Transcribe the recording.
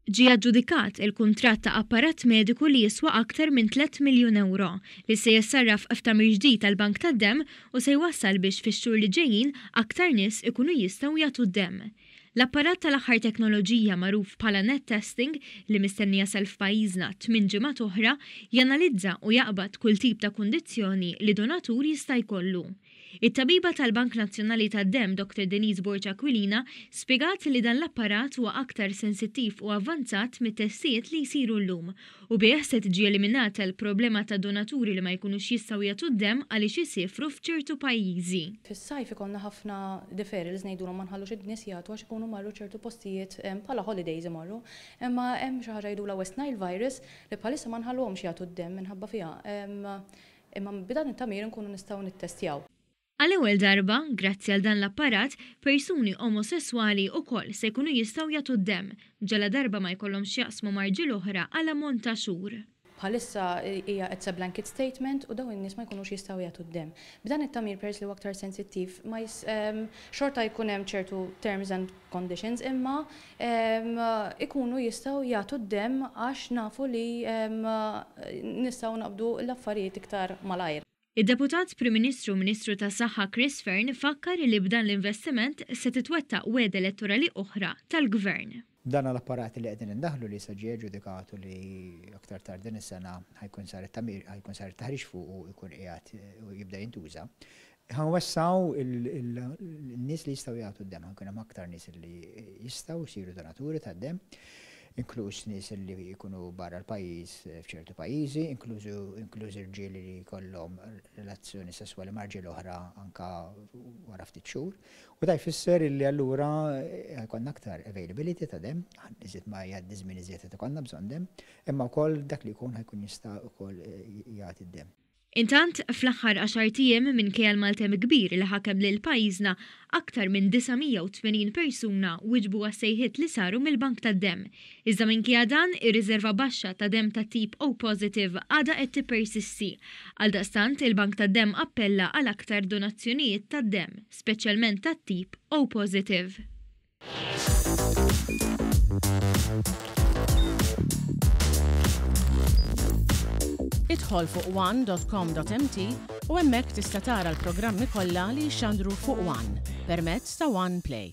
Ġie aġġudikat il-kuntratt ta' apparat mediku li jiswa aktar minn tlett miljun ewro, li se jissarraf f'tagħmir ġdid għall-bank tad-demm u se jwassal biex fix-xhur li ġejjin aktar nies ikunu jistgħu jagħtu d-demm. L-apparat tal-aħħar teknoloġija magħruf bħala Net Testing, li mistenni jasal f'pajjiżna tminn ġimgħat oħra, janalizza u jaqbad kull tip ta' kundizzjoni li donatur jista' jkollu. It-tabiba tal-Bank Nazzjonali tad-Demm Dr Denise Borg Aquilina spjegat li dan l-apparat huwa aktar sensittiv u avvanzat mit-testijiet li jsiru llum u bih se tiġi eliminata l-problema ta' donaturi li ma jkunux jistgħu jagħtu d-demm għaliex isiefru f'ċertu pajjiżi. Fis-sajf ikollna ħafna deferrals ngħidulhom ma nħallux in-nies jagħtu għax ikunu marru ċertu postijiet bħala holidays imorru. Imma hemm xi ħaġa jgħidulha West Nile virus li bħalissa ma nħalluhomx jagħtu d-demm minħabba fiha. Imma b'dan it-tagħmir inkunu nistgħu nittestjaw. Għal-ewwel darba, grazzi għal dan l-apparat, persuni omosesswali ukoll se jkunu jistgħu jagħtu d-demm, ġaladarba ma jkollhomx x'jaqsmu ma' rġiel oħra għal ammont ta' xhur. Bħalissa hija it's a blanket statement u dawn in-nies ma jkunux jistgħu jagħtu d-demm. B'dan it-tagħmir peress li huwa aktar sensittiv ma xorta jkun hemm ċertu terms and conditions imma ikunu jistgħu jagħtu d-demm għax nafu li nistgħu naqbdu l-affarijiet iktar malajr. Id-Deputat Prim Ministru u Ministru tas-Saħħa Chris Fearne fakkar li b'dan l-investiment se titwettaq wegħda elettorali oħra tal-Gvern. Dan l-apparat li qegħdin indaħħlu li issa ġie aġġudikat u li aktar tard din is-sena ħa jkun sar it-tagħmir, ħa jkun sar it-taħriġ fuqu u jkun qiegħed jibda jintuża. Ħa nwessgħu n-nies li jistgħu jagħtu d-demm, ħa jkun hemm aktar nies li jistgħu jsiru donaturi tad-demm, inkluż nies li jkunu barra l-pajjiż f'ċertu pajjiżi, inkluż irġiel li jkollhom relazzjoni sesswali ma' rġiel oħra anke wara ftit xhur. U da jfisser li allura jkollna aktar availability ta' demm, iżjed ma jgħaddi żmien iżjed qed ikollna bżonn demm, imma wkoll dak li jkun ħa jkun jista' wkoll jagħti d-demm. Intant, fl-aħħar għaxart ijiem, minkejja l-maltemp kbir li ħakem lil pajjiżna, aktar minn 980 persuna wieġbu għas-sejħiet li saru mill-Bank tad-Demm. Iżda minkejja dan, ir-riżerva baxxa ta' demm tat-tip O positive għadha qed tippersisti. Għaldaqstant, il-Bank tad-Demm appella għal aktar donazzjonijiet tad-demm, speċjalment tat-tip O positive. Idħol fuq one.com.mt u hemmhekk tista' tara l-programmi kollha li jixxandru fuq One permezz ta' One Play.